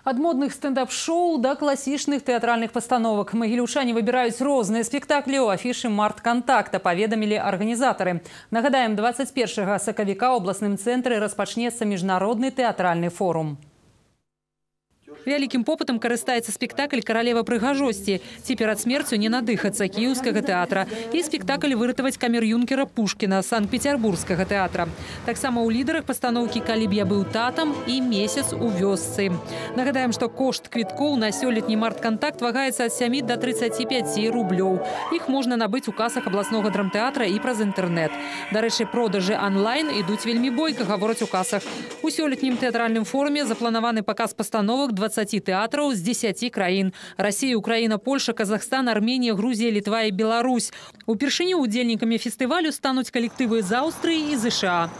Ад модных стендап-шоу до классічных тэатральных пастановак. Магіліўчане выбіраюць розныя спектаклі ў афішы «Март-Контакта», паведамілі арганізатары. Нагадаем, 21 сакавіка ў абласным цэнтры распачнецца міжнародны тэатральны форум. Вялікім попытам карыстаецца спектакль «Каралева прыгажосці». Ці перад смерцю не надыхацца кіеўскага тэатра. І спектакль «Выратаваць камер-юнкера Пушкіна» Санкт-Петербургскага тэатра. Таксама ў лідарах пастаноўкі «Калі б я быў татам» і «Месяц у вёсцы». Нагадаем, што кошт квіткоў на сёлетні «Март-Контакт» вагаецца ад 7 до 35 рублёў. Іх можна набыць у касах абласнога драмтэатра і праз інтэрнэт. Дарэчы, продажы онлайн ідуць вельмі бойка, гавораць у касах. У сёлетнім тэатральным форуме запланаваны паказ пастановак 20 тэатраў з 10 краін. Россия, Украина, Польша, Казахстан, Армения, Грузия, Литва и Беларусь. Упершыню удзельнікамі фестывалю стануць калектывы з Аўстрыі і США.